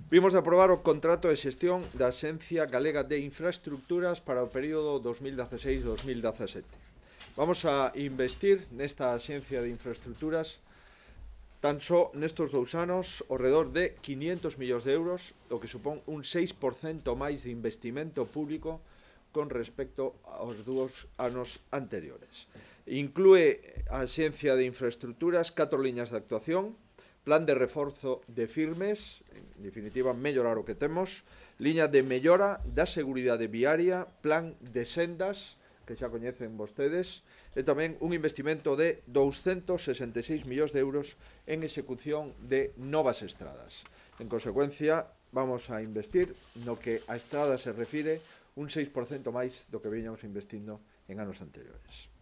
Vimos de aprobar o contrato de xestión da Axencia Galega de Infraestructuras para o período 2016-2017. Vamos a investir nesta Axencia de Infraestructuras tan só nestes 2 anos ao redor de 500 millóns de euros, o que supón un 6% máis de investimento público con respecto aos 2 anos anteriores. Inclúe a Axencia de Infraestructuras 4 liñas de actuación: plan de reforzo de firmes, en definitiva, mellorar o que temos; liña de mellora da seguridade viaria; plan de sendas, que xa coñecen vostedes; e tamén un investimento de 266 millóns de euros en execución de novas estradas. En consecuencia, vamos a investir no que a estrada se refire un 6% máis do que viñamos investindo en anos anteriores.